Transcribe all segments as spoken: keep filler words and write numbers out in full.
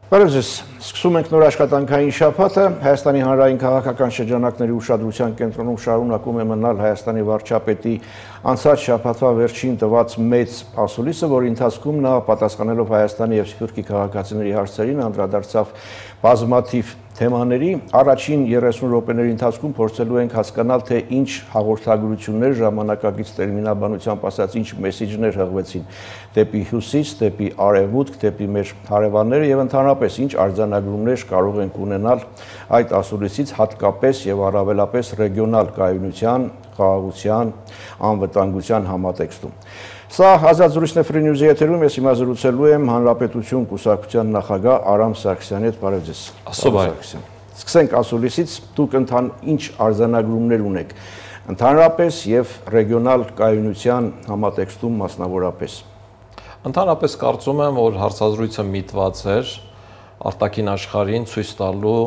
Բարև ձեզ, սկսում ենք նոր աշխատանքային շաբաթը, Հայաստանի հանրային քաղաքական շրջանակների ուշադրության կենտրոնում շարունակում է մնալ Հայաստանի վարչապետի անցած շաբաթվա վերջին տված մեծ ասուլիսը, որի ընթացքում նա պատասխանելով Հայաստանի և Սփյուռքի քաղաքացիների հարցերին անդրադարձավ բազմաթիվ թեմաների, առաջին երեսուն րոպեների ընթացքում փորձելու ենք հասկանալ, թե ինչ հաղորդագրություններ, ժամանակակից տերմինաբանությամբ ասած, ինչ մեսիջներ հղվեցին դեպի հյուսիս, դեպի արևմուտք, դեպի մեր հարևանները եւ ընդհանրապես ինչ արձանագրումներ կարող ենք ունենալ այդ ասուլիսից, հատկապես եւ առավելապես ռեգիոնալ կայունության, խաղաղության, անվտանգության համատեքստում։ Սա ազատ զրույցն է Free News-ի եթերում, ես հիմա զրուցելու եմ Հանրապետություն կուսակցության նախագահ Արամ Սարգսյանի հետ, բարև ձեզ։ Ասոբայ։ Սկսենք ասուլիսից, դուք ընթան ինչ արձանագրումներ ունեք, ընդհանրապես եւ ռեգիոնալ կայունության համատեքստում մասնավորապես։ Ընդհանրապես կարծում եմ, որ հարցազրույցը միտված էր արտաքին աշխարհին ցույց տալու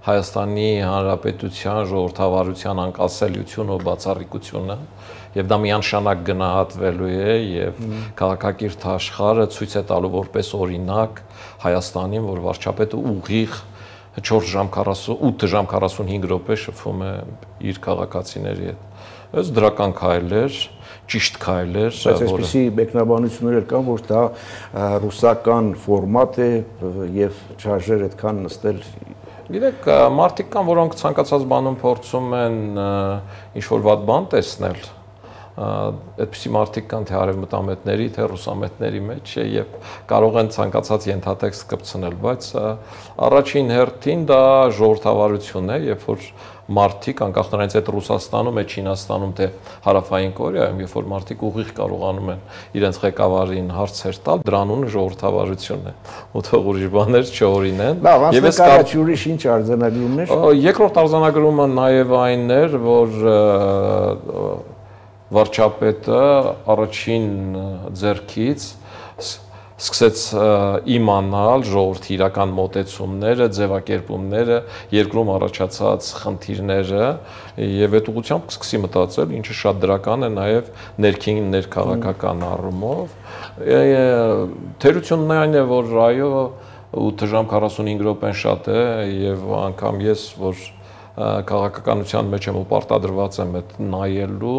Հայաստանի Հանրապետության ժողովրդավարության անկասելիությունը ու բացառիկությունը, եւ դա միանշանակ գնահատվելու է եւ քաղաքակիրթ աշխարհը ցույց է տալու որպես օրինակ Հայաստանին, որ վարչապետը ուղիղ չորս ժամ ութ ժամ քառասունհինգ րոպե շփվում է իր քաղաքացիների հետ։ Այս դրական քայլ էր, ճիշտ քայլ էր, բայց այսպիսի մեկնաբանություններ կան, որ դա ռուսական ֆորմատ է եւ չարժեր այդքան նստել։ Գիտեք, մարդիկ կան, որոնք ցանկացած բանում փորձում են ինչ-որ վատ բան տեսնել, այդպիսի մարդիկ կան թե արևմտամետների, թե ռուսամետների մեջ եւ կարող են ցանկացած ենթատեքստ կպցնել, բայց առաջին հերթին դա ժողովրդավարություն է, երբ որ մարդիկ, անկախ նրանից այդ Ռուսաստանում է, Չինաստանում, թե Հարավային Կորեայում, երբ որ մարդիկ ուղիղ կարողանում են իրենց ղեկավարին հարցեր տալ, դրա անունը ժողովրդավարություն է, ու թող ուրիշ բաներ չօրինեն։ Եվ այս կարաչ ուրիշ ինչ արձանագրումներ։ Երկրորդ արձանագրումը նաև այն էր, որ վարչապետը առաջին ձեռքից սկսեց իմանալ ժողովրդի իրական մոտեցումները, ձևակերպումները, երկրում առաջացած խնդիրները եւ այդ ուղղությամբ կսկսի մտածել, ինչը շատ դրական է նաեւ ներքին ներքաղաքական առումով։ Թերությունն այն է, որ այո, ութ ժամ քառասունհինգ րոպեն շատ է եւ անգամ ես, որ քաղաքականության մեջ եմ ու պարտադրված եմ այդ նայելու,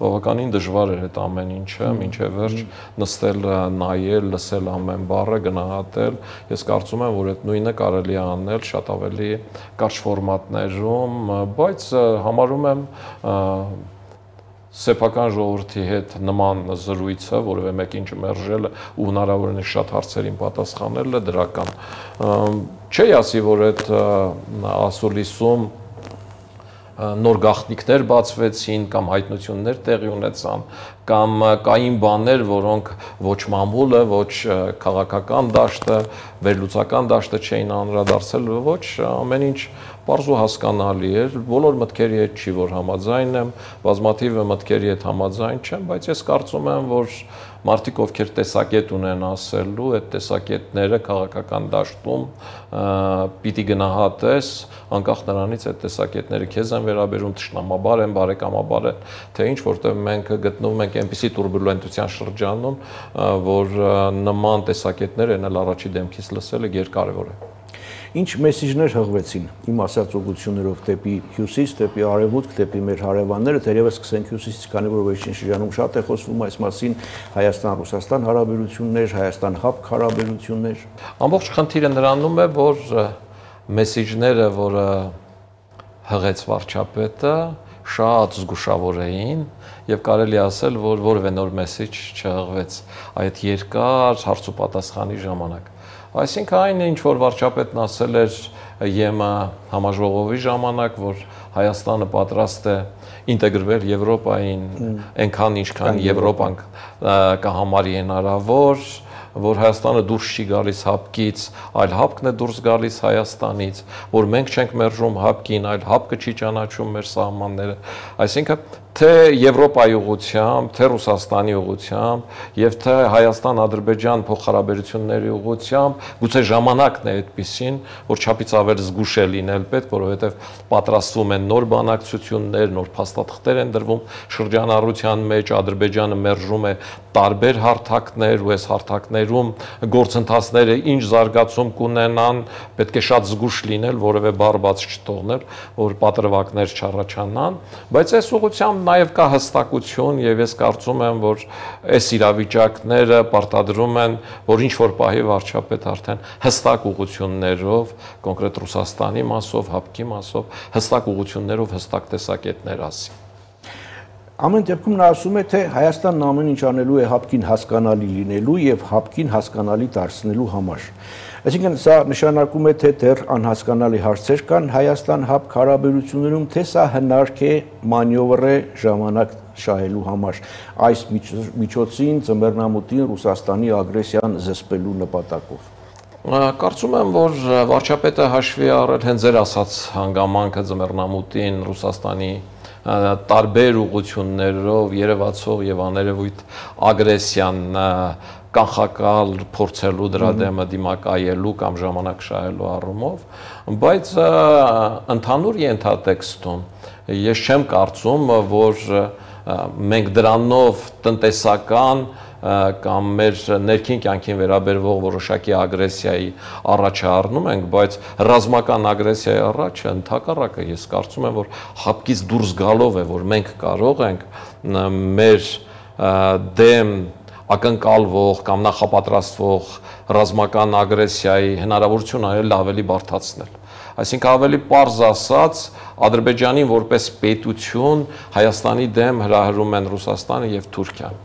բավականին դժվար էր այդ ամեն ինչը, մինչև վերջ նստել, նայել, լսել ամեն բառը, գնահատել։ Ես կարծում եմ, որ այդ նույնը կարելի է անել շատ ավելի կարճ ֆորմատներում, բայց համարում եմ սեփական ժողովրդի հետ նման զրույցը, որևէ մեկին չմերժելը ու հնարավորինս շատ հարցերին պատասխանելը դրական։ Չի ասի, որ այդ ասուլիսում նոր գաղտնիքներ բացվեցին կամ հայտնություններ տեղի ունեցան կամ կային բաներ, որոնք ոչ մամուլը, ոչ քաղաքական դաշտը, վերլուծական դաշտը չէին անդրադարձել, ոչ ամեն ինչ պարզ ու հասկանալի էր, բոլոր մտքերի հետ չի, որ համաձայն եմ, բազմաթիվը մտքերի հետ համաձայն չեմ, բայց ես կարծում եմ, որ մարդիկ, ովքեր տեսակետ ունեն ասելու, այդ տեսակետները քաղաքական դաշտում պիտի գնահատես, անկախ նրանից այդ տեսակետները քեզ են վերաբերում, թշնամաբար են, բարեկամաբար են, թե ինչ, որտեղ մենք գտնվում ենք այնպիսի տուրբուլենտության շրջանում, որ նման տեսակետներ են առաջի դեմքից լսելը գերկարևոր է։ Ինչ մեսիջներ հղվեցին իմ ասած ուղղություններով դեպի հյուսիս, դեպի արևմուտք, դեպի մեր հարևանները, թերևս սկսենք հյուսիսից, քանի որ վերջին շրջանում շատ է խոսվում այս մասին, Հայաստան-Ռուսաստան հարաբերություններ, Հայաստան-Հապկ հարաբերություններ։ Ամբողջ խնդիրը նրանում է, որ մեսիջները, որը հղեց վարչապետը, շատ զգուշավոր էին եւ կարելի ասել, որ որևէ նոր մեսիջ չհղվեց այդ երկար հարց ու պատասխանի ժամանակ։ Այսինքն այն ինչ որ վարչապետն ասել էր ԵՄ համաժողովի ժամանակ, որ Հայաստանը պատրաստ է ինտեգրվել Եվրոպային, այնքան ինչքան Եվրոպան կհամարի հնարավոր, որ Հայաստանը դուրս չի գալիս հապկից, այլ հապկն է դուրս գալիս Հայաստանից, որ մենք չենք մերժում հապկին, այլ հապկը չի ճանաչում մեր սահմանները։ Այսինքն թե Եվրոպայի ուղղությամբ, թե Ռուսաստանի ուղղությամբ եւ թե Հայաստան-Ադրբեջան փոխհարաբերությունների ուղղությամբ, գուցե ժամանակն է այդպեսին, որ չափից ավել զգուշ է լինել պետք, որովհետեւ պատրաստվում են նոր բանակցություններ, նոր փաստաթղթեր են դրվում շրջանառության մեջ, Ադրբեջանը մերժում է տարբեր հարթակներ ու այս հարթակները տարիներում գործընթացները ինչ զարգացում կունենան, պետք է շատ զգուշ լինել, որևէ բառ բաց չթողնել, որ պատրվակներ չառաջանան, բայց այս ուղղությամբ նաև կա հստակություն եւ ես կարծում եմ, որ այս իրավիճակները պարտադրում են, որ ինչ որ պահի վարչապետ արդեն հստակ ուղղություններով, կոնկրետ Ռուսաստանի մասով, ՀԱՊԿ-ի մասով, հստակ ուղղություններով, հստակ տեսակետներ ասի։ Ամեն դեպքում նա ասում է, թե Հայաստանն ամեն ինչ անելու է ՀԱՊԿ-ին հասկանալի լինելու եւ ՀԱՊԿ-ին հասկանալի դարձնելու համար։ Այսինքն սա նշանակում է, թե դեռ անհասկանալի հարցեր կան Հայաստան-ՀԱՊԿ հարաբերություններում, թե սա հնարք է, մանյովր է ժամանակ շահելու համար այս միջոցին ձմեռնամուտին Ռուսաստանի ագրեսիան զսպելու նպատակով։ Կարծում եմ, որ վարչապետը հաշվի առել հենց ձեր ասած հանգամանքը ձմեռնամուտին Ռուսաստանի տարբեր ուղղություններով երևացող եւ աներևույթ ագրեսիան կանխակալ փորձելու դրա դեմը դիմակայելու կամ ժամանակ շահելու առումով, բայց ընդհանուր ենթատեքստում ես չեմ կարծում, որ մենք դրանով տնտեսական կամ մեր ներքին կյանքին վերաբերվող որոշակի ագրեսիայի առաջ առնում ենք, բայց ռազմական ագրեսիայի առաջը ընդհակառակը ես կարծում եմ, որ ՀԱՊԿ-ից դուրս գալով է, որ մենք կարող ենք մեր դեմ ակնկալվող կամ նախապատրաստվող ռազմական ագրեսիայի հնարավորություն այլ ավելի բարդացնել։ Այսինքն ավելի պարզ ասած, Ադրբեջանին որպես պետություն Հայաստանի դեմ հրահրում են Ռուսաստանը եւ Թուրքիան։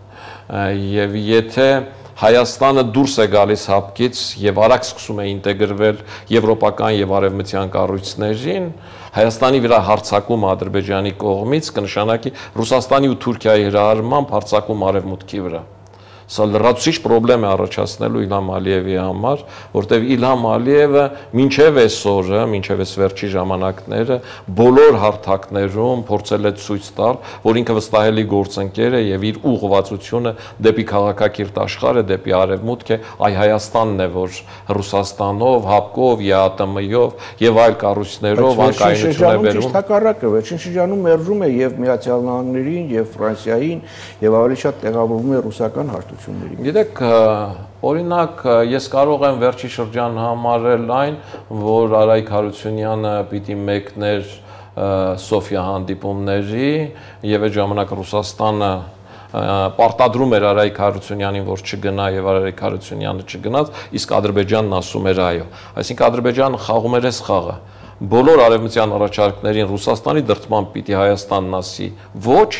Եվ եթե Հայաստանը դուրս է գալիս ՀԱՊԿ-ից եւ արագ սկսում է ինտեգրվել եվրոպական եւ արևմտյան կառույցներին, Հայաստանի վրա հարձակում Ադրբեջանի կողմից կնշանակի Ռուսաստանի ու Թուրքիայի հրահրմամբ հարձակում արևմուտքի վրա։ Սա լրացուցիչ խնդրեմ է առաջացնելու Իլհամ Ալիևի համար, որտեղ Իլհամ Ալիևը մինչև այսօրը, մինչև այս վերջի ժամանակները բոլոր հարթակներում փորձել է ցույց տալ, որ ինքը վստահելի գործընկեր է եւ իր ուղղվածությունը դեպի քաղաքակիրթ աշխարհը, դեպի արևմուտք է, այ Հայաստանն է, որ Ռուսաստանով, ՀԱՊԿ-ով, ԵԱՏՄ-ով եւ այլ կառույցներով անկայունություն է բերում։ Ճիշտ հակառակը, վերջին շրջանում մերժում է եւ Միացյալ Նահանգներին, եւ Ֆրանսիային, եւ ավելի շատ տեղավորվում է ռուսական հարթություններին։ Գիտեք, օրինակ, ես կարող եմ վերջի շրջան համարել այն, որ Արայք Հարությունյանը պիտի մեկներ Սոֆիա հանդիպումների եւ այդ ժամանակ Ռուսաստանը պարտադրում էր Արայք Հարությունյանին, որ չգնա եւ Արայք Հարությունյանը չգնաց, իսկ Ադրբեջանն ասում էր այո։ Այսինքն Ադրբեջանը խաղում էր այս խաղը։ Բոլոր արևմտյան առաջարկներին Ռուսաստանի դրդմամբ պիտի Հայաստանն ասի ոչ,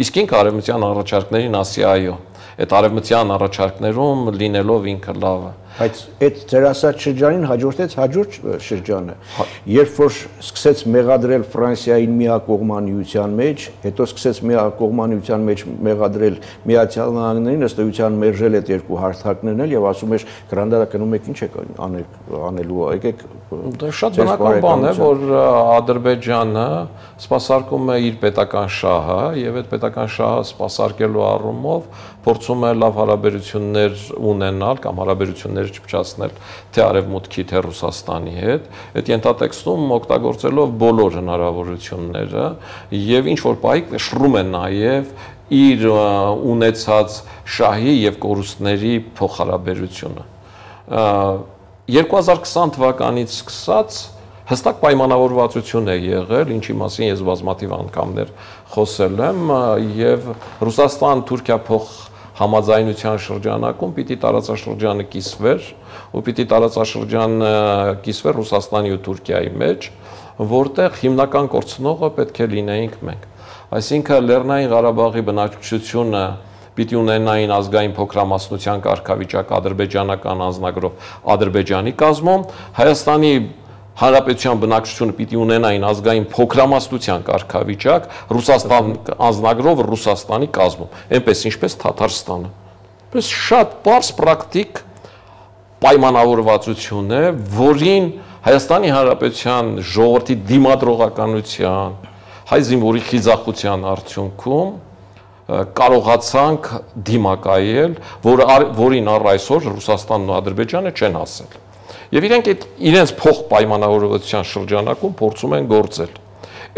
իսկ ինքը արևմտյան առաջարկներին ասի այո։ Այդ արևմտյան առաջարկներում լինելով ինքը լավը։ Բայց այդ ձեր ասած շրջանին հաջորդեց հաջորդ շրջանը, երբ որ սկսեց մեղադրել Ֆրանսիային միակողմանիության մեջ, հետո սկսեց միակողմանիության մեջ մեղադրել Միացյալ Նահանգներին, ըստ էության մերժել այդ երկու հարթակներն էլ եւ ասում էր Գրանադա կնում եք ինչ եք անելու, եկեք։ Դա շատ բնական բան է, որ Ադրբեջանը սպասարկում է իր պետական շահը եւ այդ պետական շահը սպասարկելու առումով փորձում է լավ հարաբերություններ ունենալ կամ հարաբերություններ չփչացնել թե արևմուտքի թե Ռուսաստանի հետ, այդ ենթատեքստում օգտագործելով բոլոր հնարավորությունները եւ ինչ որ պահի շռում է նաեւ իր ունեցած շահի եւ կորուստների փոխհարաբերությունը։ երկու հազար քսան թվականից սկսած հստակ պայմանավորվածություն է եղել, ինչի մասին ես բազմաթիվ անգամներ խոսել եմ եւ Ռուսաստան-Թուրքիա փոխ համաձայնության շրջանակում պիտի տարածաշրջանը կիսվեր ու պիտի տարածաշրջանը կիսվեր Ռուսաստանի ու Թուրքիայի մեջ, որտեղ հիմնական կորցնողը պետք է լինեինք մենք։ Այսինքն Լեռնային Ղարաբաղի բնակչությունը պիտի ունենային ազգային փոքրամասնության կարգավիճակ ադրբեջանական անձնագրով Ադրբեջանի կազմում, Հայաստանի Հանրապետության բնակչությունը պիտի ունենային ազգային փոքրամասնության կարգավիճակ Ռուսաստան անձնագրով Ռուսաստանի կազմում, այնպես ինչպես Թաթարստանը։ Պես շատ պարզ պրակտիկ պայմանավորվածություն է, որին Հայաստանի Հանրապետության ժողովրդի դիմադրողականության, հայ զինվորի խիզախության արդյունքում կարողացանք դիմակայել, որ, որին առ այսօր Ռուսաստանն ու Ադրբեջանը չեն հասել։ Եվ իրենք այդ իրենց փոխ պայմանավորվածության շրջանակում փորձում են գործել։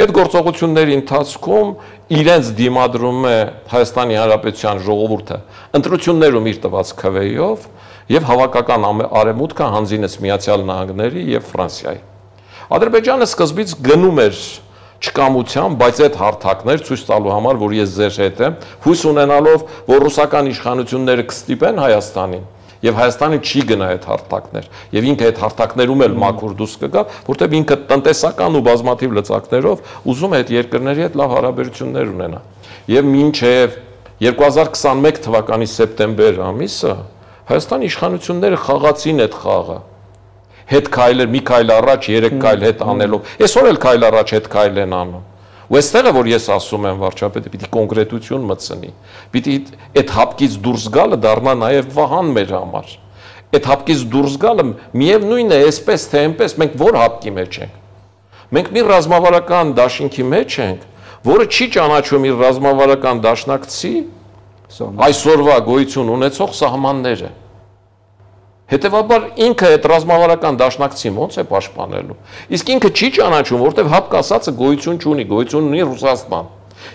Այդ գործողությունների ընթացքում իրենց դիմադրում է Հայաստանի Հանրապետության ժողովուրդը ընտրություններում իր տված քվեով եւ հավաքական արևմուտքը հանձինեց Միացյալ Նահանգների եւ Ֆրանսիայի։ Ադրբեջանը սկզբից գնում էր չկամության, բայց այդ հարթակներ ցույց տալու համար, որ ես ձեր հետ եմ, հույս ունենալով, որ ռուսական իշխանությունները կստիպեն Հայաստանին, եւ Հայաստանը չի գնա այդ հարթակներ, եւ ինքը այդ հարթակներում էլ մաքուր դուրս կգա, որտեղ ինքը տնտեսական ու բազմաթիվ լծակներով ուզում է այդ երկրների հետ լավ հարաբերություններ ունենա։ Եվ մինչև երկու հազար քսանմեկ թվականի սեպտեմբեր ամիսը Հայաստանի իշխանությունները խաղացին այդ խաղը։ Հետ քայլեր, մի քայլ առաջ, երեք քայլ հետ անելով։ Այսօր էլ քայլ առաջ հետ քայլ են անում։ Ու այստեղ է որ ես ասում եմ վարչապետը պիտի կոնկրետություն մտցնի։ Պիտի այդ հապկից դուրս գալը դառնա նաև վահան մեր համար։ Այդ հապկից դուրս գալը միևնույնն է, այսպես թե այնպես մենք որ հապկի մեջ ենք։ Մենք մի ռազմավարական դաշինքի մեջ ենք, որը չի ճանաչում իր ռազմավարական դաշնակցի այսօրվա գոյություն ունեցող սահմանները։ Հետևաբար ինքը այդ ռազմավարական դաշնակցին ոնց է պաշտպանելու։ Իսկ ինքը չի ճանաչում, որտեղ հապկ ասածը գոյություն չունի, գոյություն ունի Ռուսաստան։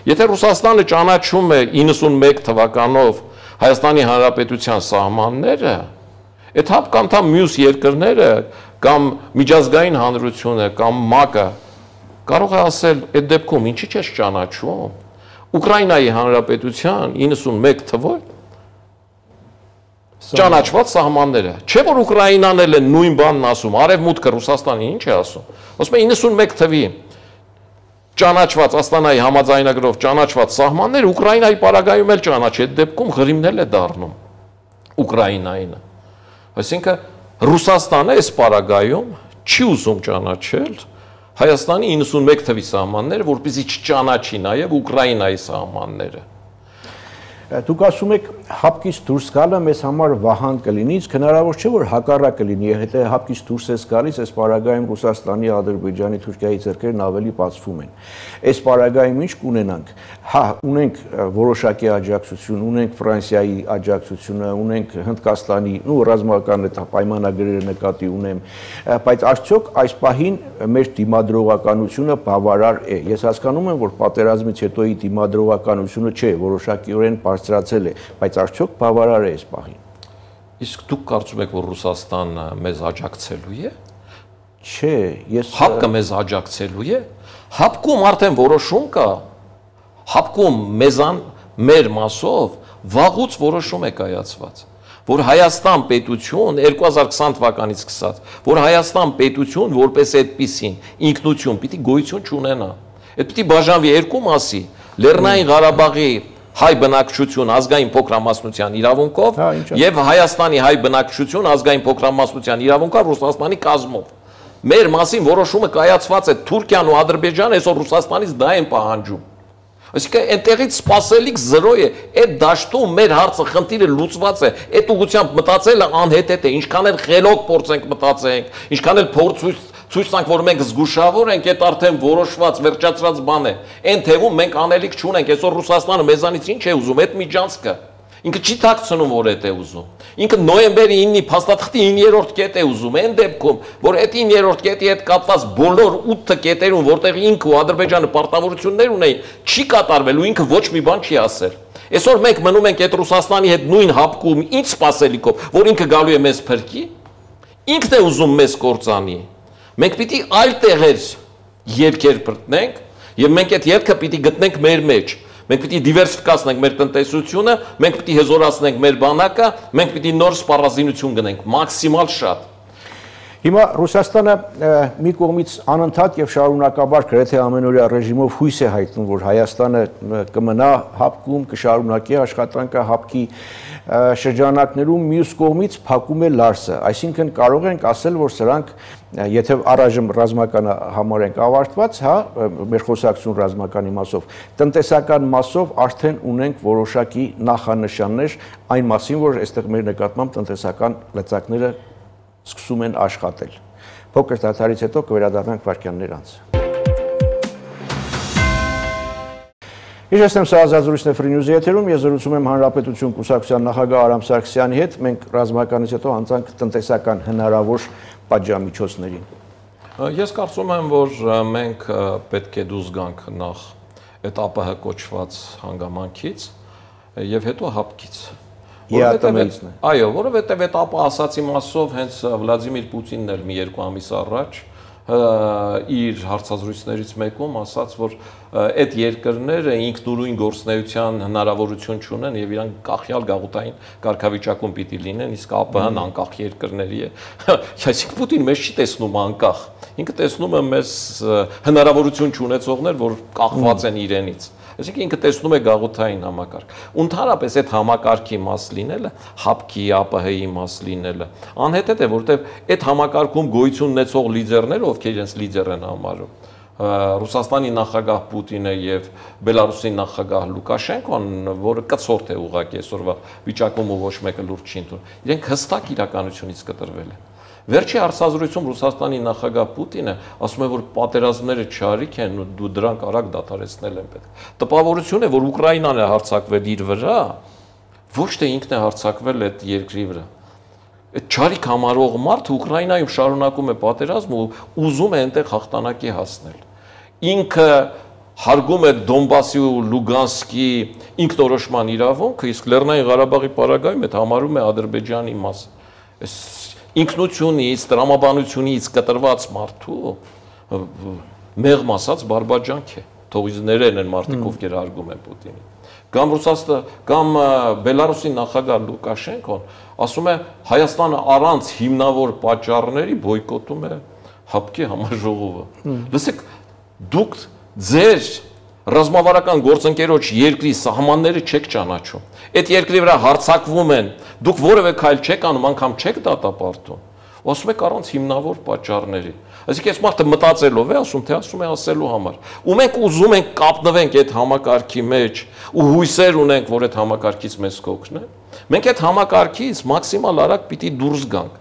Եթե Ռուսաստանը ճանաչում է իննսունմեկ թվականով Հայաստանի Հանրապետության սահմանները, այդ հապկ անդամ մյուս երկրները կամ միջազգային հանրությունը կամ ՄԱԿ-ը կարող է ասել, այդ դեպքում ինչի՞ չես ճանաչում։ Ուկրաինայի Հանրապետության իննսունմեկ թվով ճանաչված սահմանները։ Չէ՞ որ Ուկրաինան էլ է նույն բանն ասում, Արևմուտքը Ռուսաստանի ինչ է ասում։ Ասում է իննսունմեկ թվի ճանաչված Աստանայի համաձայնագրով ճանաչված սահմանները Ուկրաինայի պարագայում էլ ճանաչի, այդ դեպքում Ղրիմն էլ է դառնում Ուկրաինային։ Այսինքն Ռուսաստանը այս պարագայում չի ուզում ճանաչել Հայաստանի իննսունմեկ թվի սահմանները, որպեսզի չճանաչի նաև Ուկրաինայի սահմանները։ Դուք ասում եք հապկից դուրս գալը մեզ համար վահան կլինի, իսկ հնարավոր չէ որ հակառակը լինի, եթե հապկից դուրս ես գալիս, այս պարագայում Ռուսաստանի, Ադրբեջանի, Թուրքիայի ձեռքերն ավելի բացվում են։ Այս պարագայում ինչ կունենանք։ Հա, ունենք որոշակի աջակցություն, ունենք Ֆրանսիայի աջակցությունը, ունենք Հնդկաստանի, ու ռազմական պայմանագրերը նկատի ունեմ, բայց արդյոք այս պահին մեր դիմադրողականությունը բավարար է։ Ես հասկանում եմ, որ պատերազմից հետոյի դիմադրողականությունը չէ, որոշակիորեն բարձրացել է, բայց արդյոք բավարար է այս պահին։ Իսկ դուք կարծում եք, որ Ռուսաստանը մեզ աջակցելու է։ Չէ, ես հապկը մեզ աջակցելու է։ Հապկում արդեն որոշում կա։ Հապկում մեզան մեր մասով վաղուց որոշում է կայացված, որ Հայաստան պետություն երկու հազար քսան թվականից սկսած, որ Հայաստան պետություն որպես այդպիսին ինքնություն պիտի գոյություն չունենա։ Այդ պիտի բաժանվի երկու մասի՝ Լեռնային Ղարաբաղի հայ բնակչություն ազգային փոքրամասնության իրավունքով եւ Հայաստանի հայ բնակչություն ազգային փոքրամասնության իրավունքով Ռուսաստանի կազմով։ Մեր մասին որոշումը կայացված է Թուրքիան ու Ադրբեջանը, այսօր Ռուսաստանից դա են պահանջում։ Այսինքն այնտեղից սпасելիք զրո է, այդ դաշտում մեր հարցը խնդիրը լուծված է, այդ ուղղությամբ մտածելը անհետեթ է, ինչքան էլ խելոք փորձենք մտածենք, ինչքան էլ փորձ ցույց տանք, որ մենք զգուշավոր ենք, այդ արդեն որոշված, վերջացած բան է։ Այն թվում մենք անելիք չունենք, այսօր Ռուսաստանը մեզանից ինչ է ուզում, այդ միջանցքը։ Ինքը չի ཐակցնում, որ այդ է ուզում։ Ինքը նոյեմբերի ինը փաստաթղթի իններորդ կետ է ուզում, այն դեպքում, որ այդ իններորդ կետի հետ կապված բոլոր ութ կետերում, որտեղ ինքը ու Ադրբեջանը պարտավորություններ ունեին, չի կատարվել ու ինքը ոչ մի բան չի ասել։ Այսօր մենք մնում ենք այդ Ռուսաստանի հետ նույն հապկում, ինչ սпасելիքով, որ ինքը գալու է մեզ փրկի, ինքն է ուզում մեզ կործանի։ Մենք պիտի այլ տեղեր երկեր բռնենք եւ մենք այդ ելքը պիտի գտնենք մեր մեջ։ Մենք պիտի դիվերսիֆիկացնենք մեր տնտեսությունը, մենք պիտի հզորացնենք մեր բանակը, մենք պիտի նոր սպառազինություն գնենք, մաքսիմալ շատ։ Հիմա Ռուսաստանը մի կողմից անընդհատ եւ շարունակաբար գրեթե ամենօրյա ռեժիմով հույս է հայտնում, որ Հայաստանը կմնա հապկում, կշարունակի աշխատանքը հապկի շրջանակներում, մյուս կողմից փակում է Լարսը, այսինքն կարող ենք ասել, որ սրանք եթե առայժմ ռազմականը համարենք ավարտված, հա, մեր խոսակցություն ռազմականի մասով, տնտեսական մասով արդեն ունենք որոշակի նախանշաններ այն մասին, որ այստեղ մեր նկատմամբ տնտեսական լծակները սկսում են աշխատել։ Փոքր դադարից հետո կվերադառնանք վայրկյաններ անց։ Իջեցնեմ սա ազատությունն է Free News-ի եթերում, ես զրուցում եմ Հանրապետություն կուսակցության նախագահ Արամ Սարգսյանի հետ, մենք ռազմականից հետո հանցանք տնտեսական հնարավոր պատժամիջոցներին։ Ես կարծում եմ, որ մենք պետք է դուրս գանք նախ այդ ԱՊՀ կոչված հանգամանքից եւ հետո հապկից, ԵԱՏՄ-ից։ Այո, որովհետև այդ ապա ասացի մասով հենց Վլադիմիր Պուտինն էլ մի երկու ամիս առաջ իր հարցազրույցներից մեկում ասաց, որ այդ երկրները ինքնուրույն գործնեության հնարավորություն չունեն եւ իրանք կախյալ գաղութային կարգավիճակում պիտի լինեն, իսկ ԱՊՀ-ն անկախ երկրների է։ Այսինքն Պուտին մեզ չի տեսնում անկախ, ինքը տեսնում է մեզ հնարավորություն չունեցողներ, որ կախված են իրենից։ Այսինքն ինքը տեսնում է գաղութային համակարգ։ Ընդհանրապես այդ համակարգի մաս լինելը, հապկի ԱՊՀ-ի մաս լինելը, անհետեթ է, որովհետև այդ համակարգում գոյություն ունեցող լիդերները, ովքեր իրենց լիդեր են համարում, Ռուսաստանի նախագահ Պուտինը եւ Բելարուսի նախագահ Լուկաշենկոն, որը կցորդ է ուղղակի այսօրվա վիճակում ու ոչ մեկը լուրջ չի ընդունում, իրենք հստակ իրականությունից կտրվել են։ Վերջի հարցազրույցում Ռուսաստանի նախագահ Պուտինը ասում է, որ պատերազմները չարիք են ու դու դրանք արագ դադարեցնել են պետք։ Տպավորություն է, որ Ուկրաինան է հարձակվել իր վրա, ոչ թե ինքն է հարձակվել այդ երկրի վրա։ Այդ չարիք համարող մարդը Ուկրաինայում շարունակում է պատերազմ ու ուզում է այնտեղ հաղթանակի հասնել։ Ինքը հարգում է Դոնբասի ու Լուգանսկի ինքնորոշման իրավունքը, իսկ Լեռնային Ղարաբաղի պարագայում այդ համարում է Ադրբեջանի մաս։ Ինքնությունից, տրամաբանությունից կտրված մարդու մեղմ ասած բարբաջանք է, թող ներեն են մարդիկ, ովքեր հարգում են Պուտինին։ Կամ Ռուսաստանը, կամ Բելարուսի նախագահ Լուկաշենկոն ասում է Հայաստանը առանց հիմնավոր պատճառների բոյկոտում է հապկի համաժողովը։ Լսեք, դուք ձեր ռազմավարական գործընկերոջ երկրի սահմանները չեք ճանաչում։ Այդ երկրի վրա հարձակվում են, դուք որևէ քայլ չեք անում, անգամ չեք դատապարտում։ Ու ասում եք առանց հիմնավոր պատճառների։ Այսինքն այս մարդը մտածելով է ասում, թե ասում է ասելու համար։ Ու մենք ուզում ենք կապնվենք այդ համակարգի մեջ ու հույսեր ունենք, որ այդ համակարգից մեզ կօգնեն։ Մենք այդ համակարգից մաքսիմալ արագ պիտի դուրս գանք։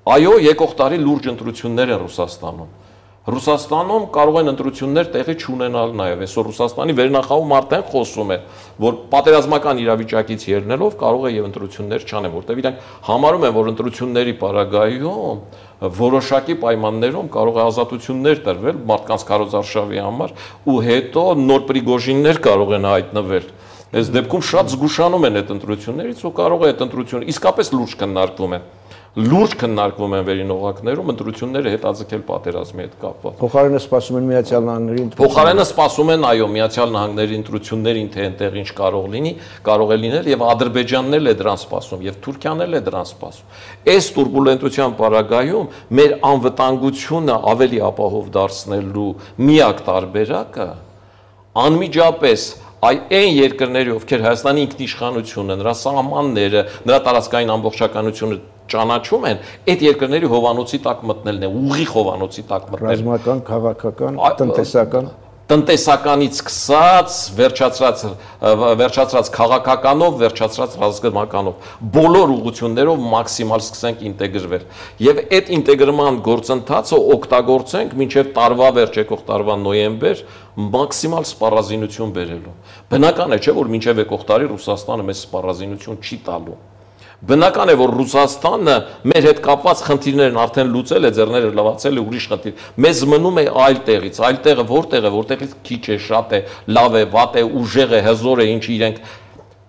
Այո, եկող տարի լուրջ ընտրություններ են Ռուսաստանում։ Ռուսաստանում կարող են ընտրություններ տեղի չունենալ նաև։ Այսօր Ռուսաստանի վերնախավում արդեն խոսում է, որ պատերազմական իրավիճակից ելնելով կարող է եւ ընտրություններ չանեն, որտեղ իրանք համարում են, որ ընտրությունների պարագայում որոշակի պայմաններում կարող է ազատություններ տրվել մարդկանց քարոզարշավի համար ու հետո նոր Պրիգոժիններ կարող են հայտնվել։ Այս դեպքում շատ զգուշանում են այդ ընտրություններից ու կարող է այդ ընտրությունը իսկապես լուրջ քննարկվում են։ Լուրջ քննարկվում են վերին օղակներում ընտրությունները հետաձգել պատերազմի հետ կապված։ Փոխարենը սպասում են Միացյալ Նահանգների ընտրությունները։ Փոխարենը սպասում են, այո, Միացյալ Նահանգների ընտրություններին, թե այնտեղ ինչ կարող լինի, կարող է լինել եւ Ադրբեջանն էլ է դրան սպասում եւ Թուրքիան էլ է դրան սպասում։ Այս турբուլենտության պարագայում մեր անվտանգությունը ավելի ապահով դարձնելու միակ տարբերակը անմիջապես այ այն երկրների, ովքեր Հայաստանի ինքնիշխանությունը, նրա սահմանները, նրա տարածքային ամբողջականությունը ճանաչում են, այդ երկրների հովանոցի տակ մտնելն է, ուղիղ հովանոցի տակ մտնելն։ Ռազմական, քաղաքական, տնտեսական, տնտեսականից սկսած, վերջացած, վերջացած քաղաքականով, վերջացած ռազմականով, բոլոր ուղղություններով մաքսիմալ սկսենք ինտեգրվել։ Եվ այդ ինտեգրման գործընթացը օգտագործենք մինչև տարվա վերջ, եկող տարվա նոյեմբեր, մաքսիմալ սպառազինություն բերելու։ Բնական է, չէ, որ մինչև եկող տարի Ռուսաստանը մեզ սպառազինություն չի տալու։ Բնական է, որ Ռուսաստանը մեր հետ կապված խնդիրներն արդեն լուծել է, ձեռները լվացել է, ուրիշ խնդիր։ Մեզ մնում է այլ տեղից, այլ տեղը որտեղ է, որտեղից քիչ է, շատ է, լավ է, վատ է, ուժեղ է, հզոր է, ինչի իրենք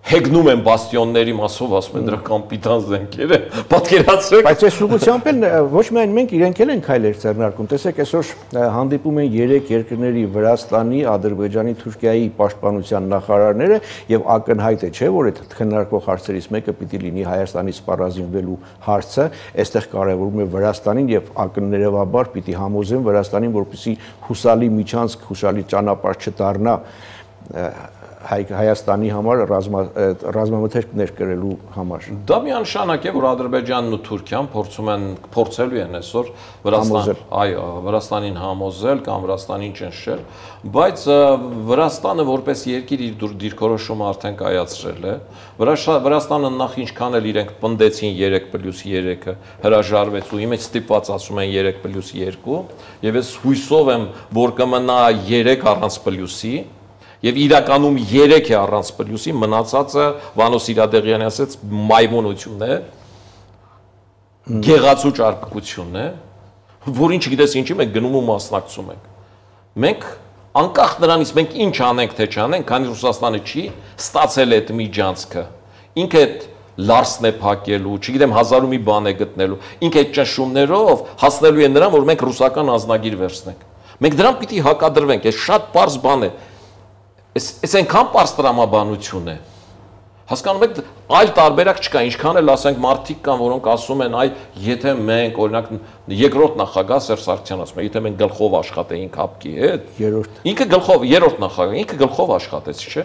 հեգնում են բաստիոնների մասով, ասում են դրա կապիտան զենքերը, պատկերացրեք։ Բայց այս ուղղությամբ էլ ոչ միայն մենք իրենք էլ են քայլեր ձեռնարկում։ Տեսեք, այսօր հանդիպում են երեք երկրների Վրաստանի, Ադրբեջանի, Թուրքիայի պաշտպանության նախարարները եւ ակնհայտ է, չէ, որ այդ քննարկվող հարցերից մեկը պիտի լինի Հայաստանի սպառազինվելու հարցը, այստեղ կարևորում է Վրաստանին եւ ակններևաբար պիտի համոզեն Վրաստանին, որպեսզի հուսալի միջանցք, հուսալի ճանապարհ չդառնա Հայաստանի համար ռազմամթերք ներկրելու համար։ Դա միանշանակ է, որ Ադրբեջանն ու Թուրքիան փորձում են փորձելու են այսօր Վրաստան, այո, Վրաստանին համոզել կամ Վրաստանին ճնշել, բայց Վրաստանը որպես երկիր իր դիրքորոշումը արդեն կայացրել է։ Վրաստանը նախ ինչքան էլ իրենք պնդեցին երեք պլյուս երեքը հրաժարվեց ու իմիջ ստիպված ասում են երեք պլյուս երկու, եւ ես հույսով եմ, որ կմնա երեք առանց պլյուսի։ Եվ իրականում երեք է առանց պլյուսի, մնացածը Վանո Սիրադեղյանի ասեց մայմունություն է, գեղացու ճարպկություն է, որին չգիտես ինչի մենք գնում ու մասնակցում ենք։ Մենք անկախ նրանից մենք ինչ անենք թե չանենք, քանի Ռուսաստանը չի ստացել այդ միջանցքը, ինքը այդ լարսն է փակելու, չգիտեմ հազարու մի բան է գտնելու։ Ինքը այդ ճնշումներով հասնելու է նրան, որ մենք ռուսական ազնագիր վերցնենք։ Մենք դրան պիտի հակադրվենք, այս շատ པարզ բան է։ Այս այս այնքան པարզ տրամաբանություն է։ Հասկանում եք, այլ տարբերակ չկա, ինչքան էլ ասենք մարդիկ կան, որոնք ասում են, այ եթե մենք օրինակ երկրորդ նախագահ Սերժ Սարգսյանն ասում է, եթե մենք գլխով աշխատեինք հապկի հետ, երրորդ։ Ինքը գլխով, երրորդ նախագահ, ինքը գլխով աշխատեց, չէ՞։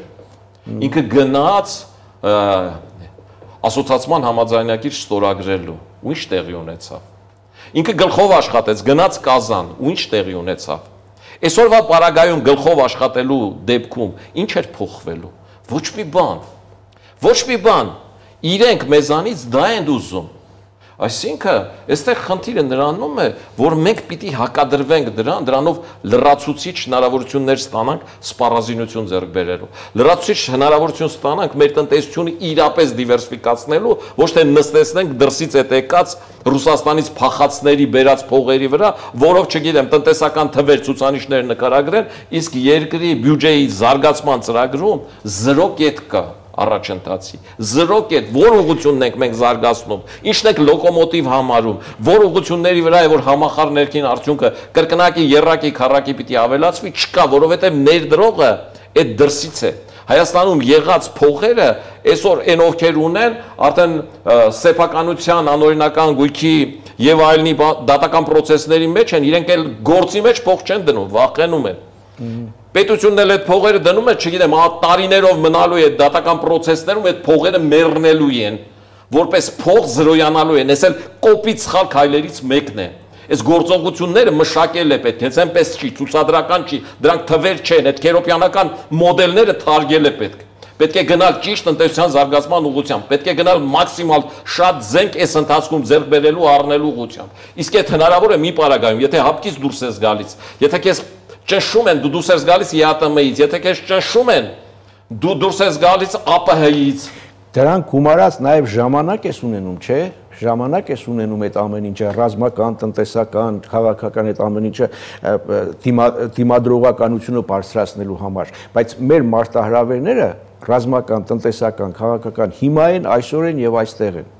Ինքը գնաց ասոցիացիան համաձայնագիր ստորագրելու, ու ինչ տեղի ունեցավ։ Ինքը գլխով աշխատեց, գնաց Կազան, ու ինչ տեղի ունեցավ։ Այսօրվա պարագայում գլխով աշխատելու դեպքում ինչ էր փոխվելու։ Ոչ մի բան։ Ոչ մի բան, իրենք մեզանից դա են ուզում։ Այսինքն, այստեղ խնդիրը նրանում է, որ մենք պիտի հակադրվենք դրան, դրանով լրացուցիչ հնարավորություններ ստանանք սպառազինություն ձեռք բերելու։ Լրացուցիչ հնարավորություն ստանանք մեր տնտեսությունը իրապես դիվերսիֆիկացնելու, ոչ թե նստեցնենք դրսից այդ եկած Ռուսաստանից փախածների բերած փողերի վրա, որով չգիտեմ, տնտեսական թվեր ցուցանիշներ նկարագրեն, իսկ երկրի բյուջեի զարգացման ծրագրում զրո կետ կա։ Առաջընթացի զրո կետ, որ ուղղությունն ենք մենք զարգացնում, ինչն ենք լոկոմոտիվ համարում, որ ուղղությունների վրա է որ համախառ ներքին արդյունքը կրկնակի, եռակի, քառակի պիտի ավելացվի, չկա, որովհետև ներդրողը այդ դրսից է։ Հայաստանում եղած փողերը այսօր այն ովքեր ունեն, արդեն սեփականության անօրինական գույքի եւ այլնի դատական process-ների մեջ են, իրենք էլ գործի մեջ փող չեն դնում, վախենում են։ Պետությունն էլ այդ փողերը դնում է, չգիտեմ, տարիներով մնալու է դատական process-ներում այդ փողերը մեռնելու են, որպես փող զրոյանալու են, այս էլ կոպիտ սխալ քայլերից մեկն է։ Այս գործողությունները մշակել է պետք, հենց այնպես չի, ցուցադրական չի, դրանք թվեր չեն, այդ քերոպյանական մոդելները թարգել է պետք։ Պետք է գնալ ճիշտ տնտեսության զարգացման ուղղությամբ, պետք է գնալ մաքսիմալ շատ զենք այս ընթացքում ձեռք բերելու առնելու ուղղությամբ։ Իսկ այդ հնարավոր է մի պարագայում, եթե հապկից դուրս ես գալիս, եթե քեզ ճնշում են, դու դուրս ես գալիս ԵԱՏՄ-ից, եթե քեզ ճնշում են, դու դուրս ես գալիս ԱՊՀ-ից։ Դրանք գումարած նաև ժամանակ ես ունենում, չէ՞։ Ժամանակ ես ունենում այդ ամեն ինչը, ռազմական, տնտեսական, քաղաքական այդ ամեն ինչը դիմադրողականությունը բարձրացնելու համար, բայց մեր մարտահրավերները ռազմական, տնտեսական, քաղաքական հիմա են, այսօր են եւ այստեղ են։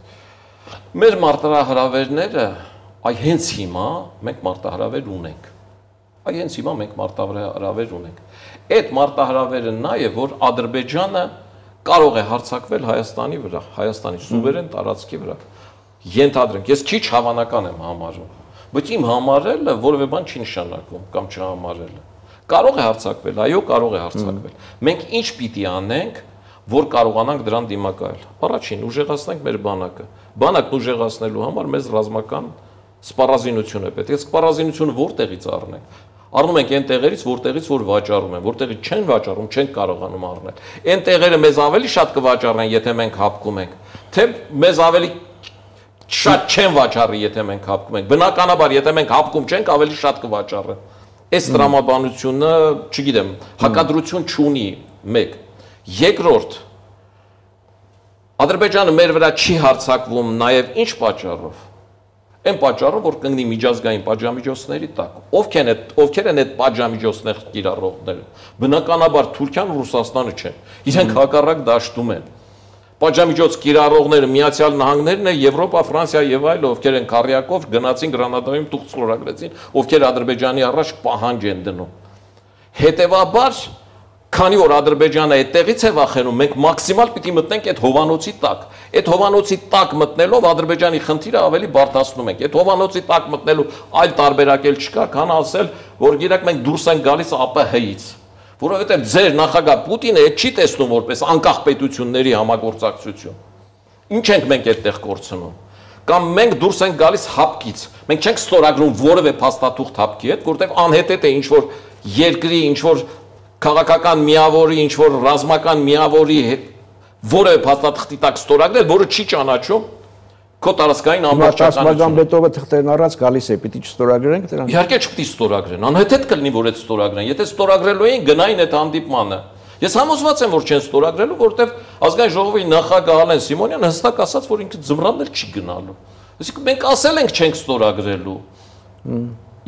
Մեր մարտահրավերները, այ հենց հիմա մենք մարտահրավեր ունենք։ Այ հենց հիմա մենք մարտահրավեր ունենք։ Այդ մարտահրավերը նա է, որ Ադրբեջանը կարող է հարձակվել Հայաստանի վրա, Հայաստանի սուվերեն տարածքի վրա։ Ենթադրենք, ես քիչ հավանական եմ համարում, բայց իմ համարելը որևէ բան չի նշանակում կամ չհամարելը։ Կարող է հարձակվել, այո, կարող է հարձակվել։ Մենք ինչ պիտի անենք, որ կարողանանք դրան դիմակայել։ Առաջին, ուժեղացնենք մեր բանակը։ Բանակն ուժեղացնելու համար մեզ ռազմական սպառազինություն է պետք։ Այս սպառազինությունը որտեղից առնենք։ Առնում ենք այն տեղերից, որտեղից որ վաճառում են, որտեղից չեն վաճառում, չեն կարողանում առնել։ Այն տեղերը մեզ ավելի շատ կվաճառեն, եթե մենք հապկում ենք, թե մեզ ավելի շատ չեն վաճառի, եթե մենք հապկում ենք։ Բնականաբար, եթե մենք հապկում չենք, ավելի շատ կվաճառեն։ Այս տրամաբանությունը, չգիտեմ, հակադրություն չունի, մեկ։ Երկրորդ, Ադրբեջանը մեր վրա չի հարձակվում նաև ինչ պատճառով։ Այն պատճառով, որ կընկնի միջազգային պատժամիջոցների տակ։ Ովքեր են այդ ովքեր են այդ պատժամիջոցներ կիրառողները։ Բնականաբար Թուրքիան ու Ռուսաստանը չեն։ Իրենք հակառակ դաշտում են։ Պատժամիջոց կիրառողները Միացյալ Նահանգներն են, Եվրոպա, Ֆրանսիա եւ այլը, ովքեր են քարյակով գնացին Գրանադայում տուղ ստորագրեցին, ովքեր Ադրբեջանի առաջ պահանջ են դնում։ Հետևաբար, քանի որ Ադրբեջանը այդտեղից է վախենում, մենք մաքսիմալ պիտի մտնենք այդ հովանոցի տակ։ Այդ հովանոցի տակ մտնելով Ադրբեջանի խնդիրը ավելի բարդացնում ենք։ Այդ հովանոցի տակ մտնելու այլ տարբերակ էլ չկա, քան ասել, որ գիտեք մենք դուրս ենք գալիս ԱՊՀ-ից, որովհետև ձեր նախագահ Պուտինը այդ չի տեսնում որպես անկախ պետությունների համագործակցություն։ Ինչ ենք մենք այդտեղ կորցնում։ Կամ մենք դուրս ենք գալիս հապկից։ Մենք չենք ստորագրում որևէ փաստաթուղթ հապկի հետ, որովհետև անհետետ է ինչ որ երկրի, ինչ որ քաղաքական միավորի, ինչ որ ռազմական միավորի որևէ փաստաթղթի տակ ստորագրել, որը չի ճանաչում քո տարածքային ամբողջականությունը։ Մագամբետովը թղթերն առած գալիս է, պիտի չստորագրենք դրան։ Իհարկե չպիտի ստորագրեն, անհետետ կլինի, որ այդ ստորագրեն։ Եթե ստորագրելու էին, գնային այդ հանդիպմանը։ Ես համոզված եմ, որ չեն ստորագրելու, որովհետև ազգային ժողովի նախագահ Ալեն Սիմոնյանը հստակ ասաց, որ ինքը ձմռանն էլ չի գնալու։ Այսինքն մենք ասել ենք չենք ստորագրելու։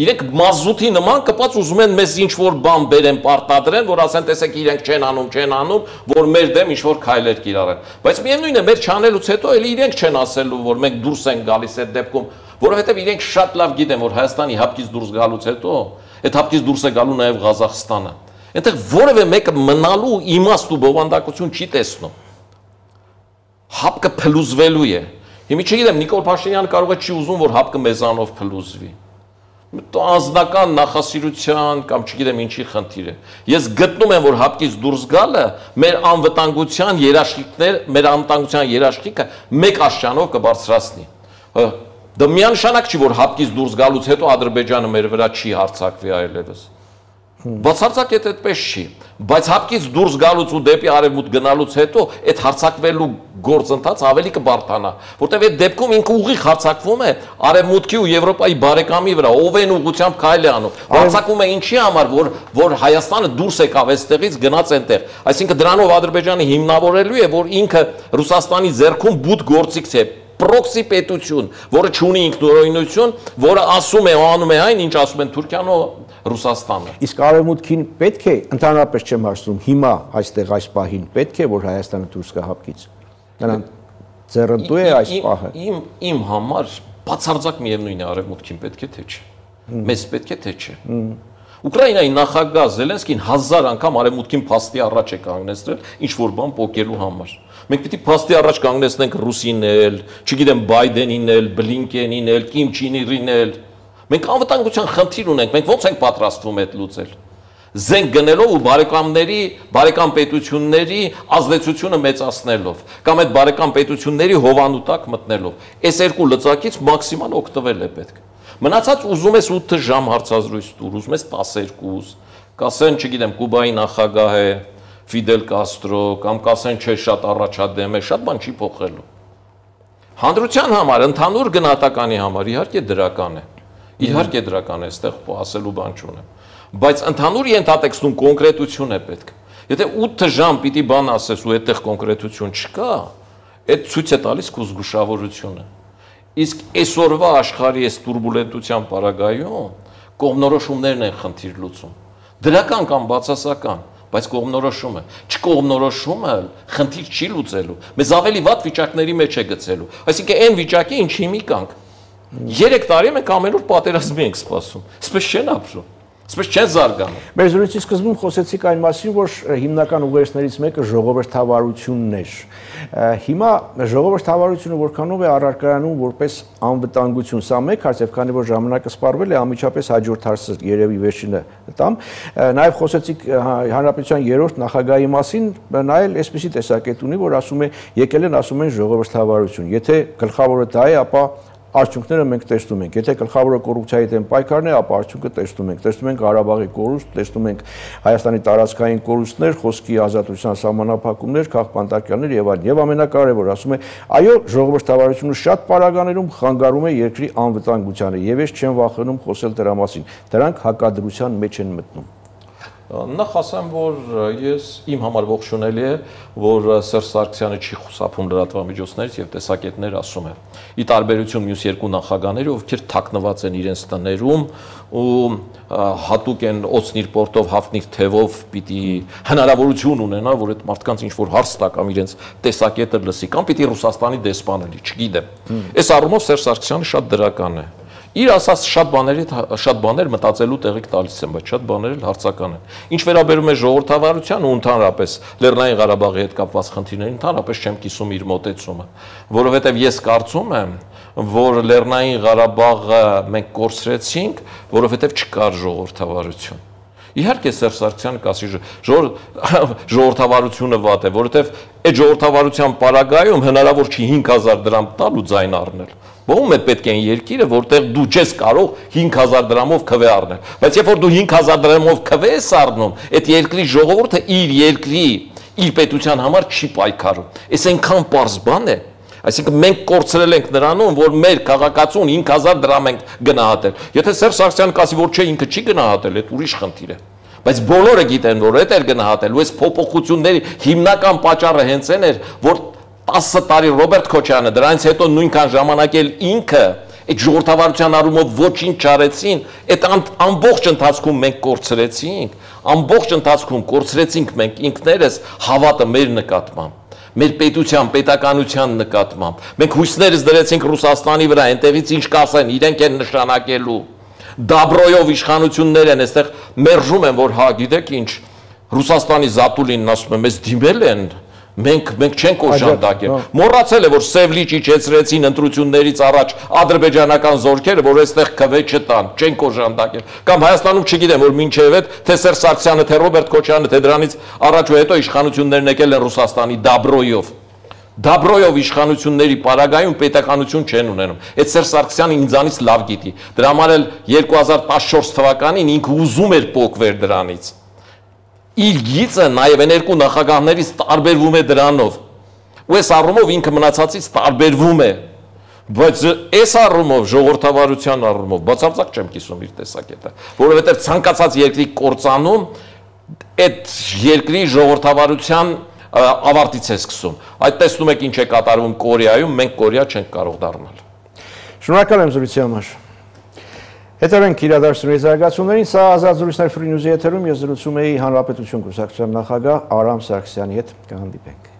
Իրենք մազութի նման կպած ուզում են մեզ ինչ-որ բան բերեն, պարտադրեն, որ ասեն, տեսեք, իրենք չեն անում, չեն անում, որ մեր դեմ ինչ-որ քայլեր կիրառեն։ Բայց միևնույն է, մեր չանելուց հետո էլ իրենք չեն ասելու, որ մենք դուրս ենք գալիս այդ դեպքում, որովհետև իրենք շատ լավ գիտեն, որ Հայաստանի հապկից դուրս գալուց հետո, այդ հապկից դուրս է գալու նաև Ղազախստանը։ Այնտեղ որևէ մեկը մնալու իմաստ ու բովանդակություն չի տեսնում։ Հապկը փլուզվելու է։ Հիմա չգիտեմ, Նիկոլ Փաշինյանը կարող է չի ուզում, որ հապկը մեզանով փլուզվի։ Անձնական նախասիրության կամ չգիտեմ ինչի խնդիր է։ Ես գտնում եմ, որ հապկից դուրս գալը մեր անվտանգության երաշխիքներ, մեր անվտանգության երաշխիքը մեկ աշճանով կբարձրացնի։ Դա միանշանակ չի, որ հապկից դուրս գալուց հետո Ադրբեջանը մեր վրա չի հարձակվի այլևս։ Բացարձակ այդ այդպես չի, բայց հապկից դուրս գալուց ու դեպի արևմուտք գնալուց հետո այդ հարձակվելու գործընթացը ավելի կբարթանա, որտեղ այդ դեպքում ինքը ուղիղ հարձակվում է արևմուտքի ու Եվրոպայի բարեկամի վրա, ով են ուղղությամբ քայլ է անում։ Հարձակվում է ինչի համար, որ որ Հայաստանը դուրս եկավ այստեղից գնաց այնտեղ։ Այսինքն դրանով Ադրբեջանը հիմնավորելու է, որ ինքը Ռուսաստանի ձեռքում բութ գործիք է, պրոքսի պետություն, որը չունի ինքնուրույնություն, որը ասում է ու անում է այն, ինչ ասում են Թուրքիան ու Ռուսաստանը։ Իսկ արևմուտքին պետք է, ընդհանրապես չեմ հարցնում, հիմա այստեղ այս պահին պետք է, որ Հայաստանը դուրս գա հապկից։ Նրան ձեռնտու է այս պահը։ Իմ իմ համար բացարձակ միևնույն է, արևմուտքին պետք է թե չէ։ Մեզ պետք է թե չէ։ Ուկրաինայի նախագահ Զելենսկին հազար անգամ արևմուտքին փաստի առաջ է կանգնեցրել ինչ որ բան փոկելու համար։ Մենք պիտի փաստի առաջ կանգնեցնենք Ռուսին էլ, չգիտեմ Բայդենին էլ, Բլինկենին էլ, Կիմ Չին Իրին էլ։ Մենք անվտանգության խնդիր ունենք, մենք ո՞նց ենք պատրաստվում այդ լուծել։ Զենք գնելով ու բարեկամների, բարեկամ պետությունների ազդեցությունը մեծացնելով, կամ այդ բարեկամ պետությունների հովանու տակ մտնելով։ Այս երկու լծակից մաքսիմալ օգտվել է պետք։ Մնացած ուզում ես ութ ժամ հարցազրույց տուր, ուզում ես տասներկու, կասեն, չգիտեմ, Կուբայի նախագահ է, Ֆիդել Կաստրո, կամ կասեն, չէ, շատ առաջադեմ է, շատ բան չի փոխելու։ Հանրության համար, ընդհանուր գնահատականի համար իհարկե դրական է։ Իհարկե դրական է, այստեղ ասելու բան չունեմ։ Բայց ընդհանուր ենթատեքստում կոնկրետություն է պետք։ Եթե ութ ժամ պիտի բան ասես ու այդտեղ կոնկրետություն չկա, այդ ցույց է տալիս քո զգուշավորությունը։ Իսկ այսօրվա աշխարհի այս տուրբուլենտության պարագայում կողմնորոշումներն են խնդիր լուծում։ Դրական կամ բացասական, բայց կողմնորոշումը, չկողմնորոշումը խնդիր չի լուծելու։ Մեզ ավելի վատ վիճակների մեջ է գցելու։ Այսինքն այն վիճակի, ինչի մի կանք։ Երեք տարի մենք ամեն օր պատերազմի ենք սպասում։ Այսպես չեն ապրում։ Այսպես չեն զարգանում։ Մեր զրույցի սկզբում խոսեցիք այն մասին, որ հիմնական ուղերձներից մեկը ժողովրդավարությունն էր։ Հիմա ժողովրդավարությունը որքանով է առարկայանում որպես անվտանգություն, սա մեկ հարց, եւ քանի որ ժամանակը սպառվել է, անմիջապես հաջորդ հարցը երևի վերջինը տամ։ Նաեւ խոսեցիք Հանրապետության երրորդ նախագահի մասին, նա էլ այսպիսի տեսակետ ունի, որ ասում է, եկել են ասում են ժողովրդավարություն։ Եթե գլխավորը դա է, ապա արդյունքները մենք տեսնում ենք։ Եթե գլխավորը կոռուպցիայի դեմ պայքարն է, ապա արդյունքը տեսնում ենք։ Տեսնում ենք Ղարաբաղի կորուստ, տեսնում ենք Հայաստանի տարածքային կորուստներ, խոսքի ազատության սահմանափակումներ, քաղբանտարկյաններ եւ այլն։ Եվ ամենակարևորը ասում է, այո, ժողովրդավարությունը շատ պարագաներում խանգարում է երկրի անվտանգությանը եւ ես չեմ վախենում խոսել դրա մասին։ Դրանք հակադրության մեջ են մտնում։ Նախ ասեմ, որ ես իմ համար ողջունելի է, որ Սերժ Սարգսյանը չի խուսափում լրատվամիջոցներից եւ տեսակետներ ասում է։ Ի տարբերություն մյուս երկու նախագահների, ովքեր թաքնված են իրենց տներում ու հատուկ են օծնիր պորտով, հաֆնիր թևով պիտի հնարավորություն ունենա, որ այդ մարդկանց ինչ որ հարց տա կամ իրենց տեսակետը լսի, կամ պիտի Ռուսաստանի դեսպան լինի, չգիտեմ։ Այս առումով Սերժ Սարգսյանը շատ դրական է։ Իր ասած շատ բաների շատ բաներ մտածելու տեղիք տալիս են, բայց շատ բաներ էլ հարցական են։ Ինչ վերաբերում է ժողովրդավարության ու ընդհանրապես Լեռնային Ղարաբաղի հետ կապված խնդիրներին, ընդհանրապես չեմ կիսում իր մոտեցումը, որովհետև ես կարծում եմ, որ Լեռնային Ղարաբաղը մենք կորցրեցինք, որովհետև չկար ժողովրդավարություն։ Իհարկե Սերժ Սարգսյանը կասի ժողովրդավարությունը վատ է, որովհետև այդ ժողովրդավարության պարագայում հնարավոր չի հինգ հազար դրամ տալ ու ձայն առնել։ Ո՞ւմ է պետք է երկիրը, որտեղ դու չես կարող հինգ հազար դրամով քվե առնել։ Բայց երբ որ դու հինգ հազար դրամով քվե ես առնում, այդ երկրի ժողովուրդը իր երկրի, իր պետության համար չի պայքարում։ Այս այնքան պարզ բան է։ Այսինքն մենք կորցրել ենք նրանում, որ մեր քաղաքացուն հինգ հազար դրամ ենք գնահատել։ Եթե Սերժ Սարգսյանը կասի, որ չէ, ինքը չի գնահատել, այդ ուրիշ խնդիր է։ Բայց բոլորը գիտեն, որ այդ էր գնահատել, ու այս փոփոխությունների հիմնական պատճառը հենց այն էր, որ տասը տարի Ռոբերտ Քոչարյանը, դրանից հետո նույնքան ժամանակ էլ ինքը Այդ ժողովրդավարության առումով ոչինչ չարեցին, այդ ամբողջ ընթացքում մենք կորցրեցինք, ամբողջ ընթացքում կորցրեցինք մենք ինքներս հավատը մեր նկատմամբ, մեր պետության, պետականության նկատմամբ։ Մենք հույսներս դրեցինք Ռուսաստանի վրա, այնտեղից ինչ կասեն, իրենք են նշանակելու։ Դաբրոյով իշխանություններ են, այստեղ մերժում են, որ հա, գիտեք ինչ, Ռուսաստանի Զատուլինն ասում է, մեզ դիմել են, մենք մենք չենք օժանդակել։ Մոռացել է, որ Սևլիճ իջեցրեցին ընտրություններից առաջ ադրբեջանական զորքերը, որ այստեղ քվե չտան, չենք օժանդակել։ Կամ Հայաստանում չգիտեմ, որ մինչև այդ թե Սերժ Սարգսյանը, թե Ռոբերտ Քոչարյանը, թե դրանից առաջ ու հետո իշխանություններն եկել են Ռուսաստանի Դաբրոյով։ Դաբրոյով իշխանությունների պարագայում պետականություն չեն ունենում։ Այդ Սերժ Սարգսյանը ինձանից լավ գիտի։ Դրա համար էլ երկու հազար տասնչորս թվականին ինքը ուզում էր փոկվել դրանից։ Իր գիծը նաև այն երկու նախագահներից տարբերվում է դրանով։ Ու այս առումով ինքը մնացածից տարբերվում է։ Բայց այս առումով ժողովրդավարության առումով բացարձակ չեմ կիսում իր տեսակետը, որովհետև ցանկացած երկրի կործանում այդ երկրի ժողովրդավարության ավարտից է սկսում։ Այդ տեսնում եք ինչ է կատարվում Կորեայում, մենք Կորեա չենք կարող դառնալ։ Շնորհակալ եմ զրույցի համար։ Հետևենք իրադարձությունների զարգացումներին, սա Ազատ զրույցներ Free News-ի եթերում ես զրուցում էի Հանրապետություն կուսակցության նախագահ Արամ Սարգսյանի հետ, կհանդիպենք։